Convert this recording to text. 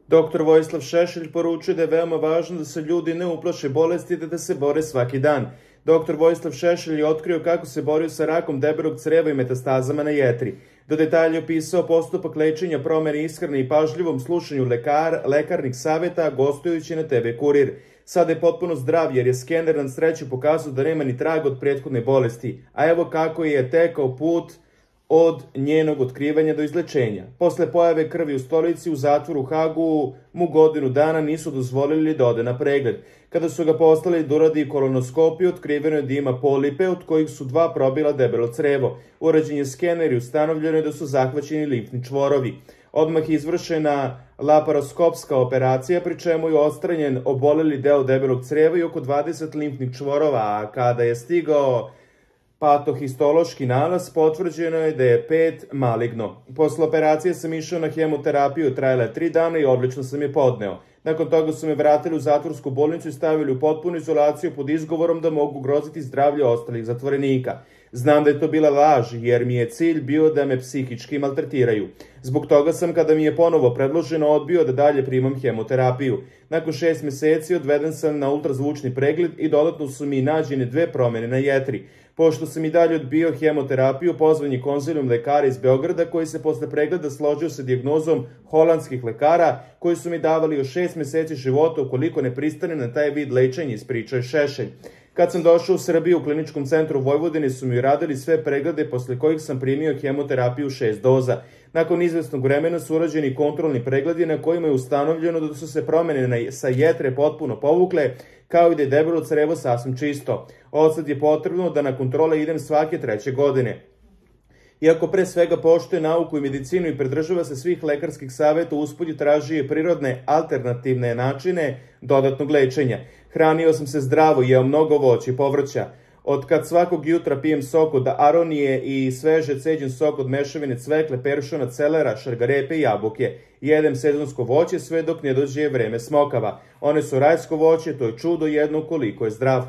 Doktor Vojislav Šešelj poručuje da je veoma važno da se ljudi ne uplaše bolesti te da se bore svaki dan. Doktor Vojislav Šešelj je otkrio kako se borio sa rakom debelog creva i metastazama na jetri. Do detalja opisao postupak lečenja, promene ishrane i pažljivom slušanju lekarnih saveta gostujući na TV Kurir. Sada je potpuno zdrav jer je skener na sreću pokazao da nema ni traga od prethodne bolesti. A evo kako je tekao put od njenog otkrivanja do izlečenja. Posle pojave krvi u stolici u zatvoru u Hagu mu godinu dana nisu dozvolili da ode na pregled. Kada su ga poslali da uradi kolonoskopiju, otkriveno je da ima polipe, od kojih su 2 probila debelo crevo. Urađen je skener i ustanovljeno je da su zahvaćeni limfni čvorovi. Odmah je izvršena laparoskopska operacija, pri čemu je odstranjen oboleli deo debelog creva i oko 20 limfnih čvorova, a kada je stigao patohistološki nalaz, potvrđeno je da je 5 maligno. Posle operacije sam išao na hemoterapiju, trajala je 3 dana i odlično sam je podneo. Nakon toga su me vratili u zatvorsku bolnicu i stavili u potpunu izolaciju pod izgovorom da mogu ugroziti zdravlje ostalih zatvorenika. Znam da je to bila laž, jer mi je cilj bio da me psihički maltretiraju. Zbog toga sam, kada mi je ponovo predloženo, odbio da dalje primam hemoterapiju. Nakon 6 meseci odveden sam na ultrazvučni pregled i dodatno su mi nađene 2 promene na jetri. Pošto sam i dalje odbio hemoterapiju, pozvan je konzilijum lekara iz Beograda koji se posle pregleda složio sa dijagnozom holandskih lekara koji su mi davali još 6 meseci života ukoliko ne pristane na taj vid lečenja, ispričao je Šešelj. Kad sam došao u Srbiju u kliničkom centru Vojvodine su mi radili sve preglede posle kojih sam primio hemoterapiju 6 doza. Nakon izvesnog vremena su urađeni kontrolni pregledi na kojima je ustanovljeno da su se promene sa jetre potpuno povukle, kao i da je debelo crevo sasvim čisto. Odsad je potrebno da na kontrole idem svake 3. godine. Iako pre svega poštuje nauku i medicinu i pridržava se svih lekarskih saveta, usput je tražio prirodne alternativne načine dodatnog lečenja. Hranio sam se zdravo, jeo mnogo voća i povrća. Od kad svakog jutra pijem sok od aronije i sveže ceđen sok od mešavine cvekle, peršuna, celera, šargarepe i jabuke. Jedem sezonsko voće sve dok ne dođe vreme smokava. One su rajsko voće, to je čudo jedno koliko je zdrav.